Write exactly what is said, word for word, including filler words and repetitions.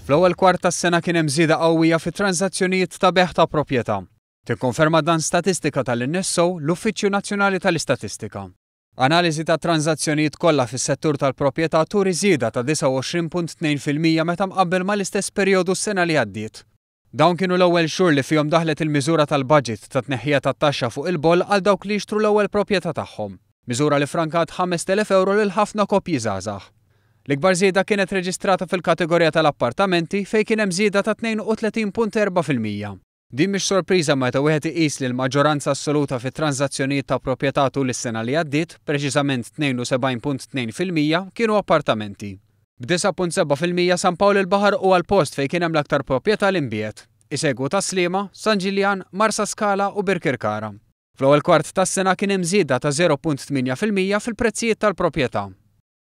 Fl-ewwel kwart tas-sena kien hemm żieda qawwija fit-tranżazzjonijiet ta' bejgħ ta' proprjetà. Tikkonferma dan statistika tal-N S O, l-Uffiċċju Nazzjonali tal-Istatistika. Analiżi ta' tranżazzjonijiet kollha fis-settur tal-proprjetà turi żieda ta' disgħa u għoxrin punt tnejn fil-mija meta mqabbel mal-istess perjodu s-sena li għaddiet. Dawn kienu l-ewwel xhur li fihom daħlet il-miżura tal-budget ta' tneħħija tat-taxxa fuq il-boll għal dawk li jixtru l-ewwel proprjetà tagħhom. Miżura li frankat ħamest elef euro lil ħafna koppji żgħażagħ. L-ikbar żieda kienet reġistrata fil-kategorija tal-appartamenti, fejn kien hemm żieda ta' tnejn u tletin punt erbgħa fil-mija. Din mhix sorpriża meta wieħed iqis li l-maġġoranza assoluta fit-tranżazzjonijiet ta' proprjetà tul is-sena li għaddiet, preċiżament tnejn u sebgħin punt tnejn fil-mija, kienu appartamenti. B'disgħa punt sebgħa fil-mija San Pawl il-Baħar huwa l-post fejn kien hemm l-aktar proprjetà li nbiegħet. Isegwu Tas-Sliema, San Ġiljan, Marsaskala u Birkirkara. Fl-ewwel kwart tas-sena kien hemm żieda ta' żero punt tmienja fil-mija fil-prezzijiet tal-proprjetà.